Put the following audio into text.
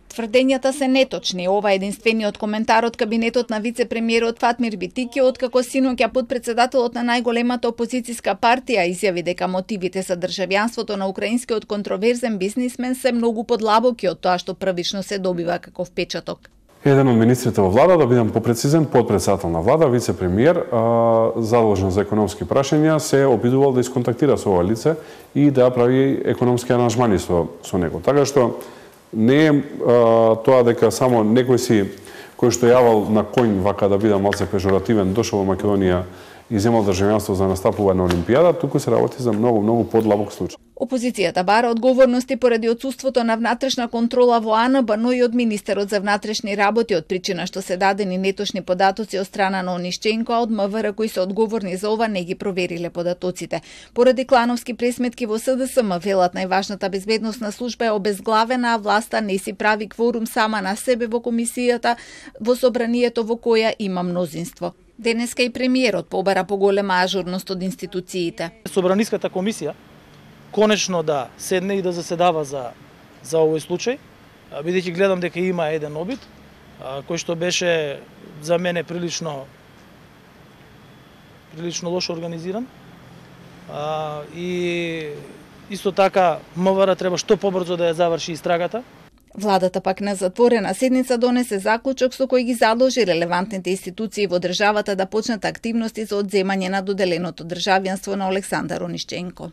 Тврдењата се неточни. Ова е единствениот коментар од кабинетот на вице-премиерот Фатмир Битики, откако синоќа потпредседателот на најголемата опозицијска партија изјави дека мотивите за државјанството на украинскиот контроверзен бизнисмен се многу подлабоки од тоа што првично се добива како впечаток. Еден од министрите во влада, да бидам попрецизен, потпредседател на влада, вице-премиер, задолжен за економски прашања, се обидувал да исконтактира со ова лице и да прави економски аранжмани со него. Така што не е тоа дека само некој си кој што јавал на коњ, вака да бидам малце пежоративен, дошол во Македонија и земал државјанство за настапување на Олимпијада, туку се работи за многу подлабок случај. Опозицијата бара одговорности поради отсуството на внатрешна контрола во АНБ, но и од министерот за внатрешни работи, од причина што се дадени неточни податоци од страна на Онишченко, а од МВР кои се одговорни за ова не ги провериле податоците. Поради клановски пресметки во СДСМ, велат најважната безбедносна служба е обезглавена, а власта не си прави кворум сама на себе во комисијата во собранието во која има мнозинство. Денеска и премиерот побара поголема ажурност од институциите. Собраниската комисија конечно да седне и да заседава за овој случај, бидејќи гледам дека има еден обид кој што беше за мене прилично лошо организиран. И исто така МВР треба што побрзо да ја заврши истрагата. Владата пак на затворена седница донесе заклучок со кој ги задолжи релевантните институции во државата да почнат активности за одземање на доделеното државјанство на Олександар Онишченко.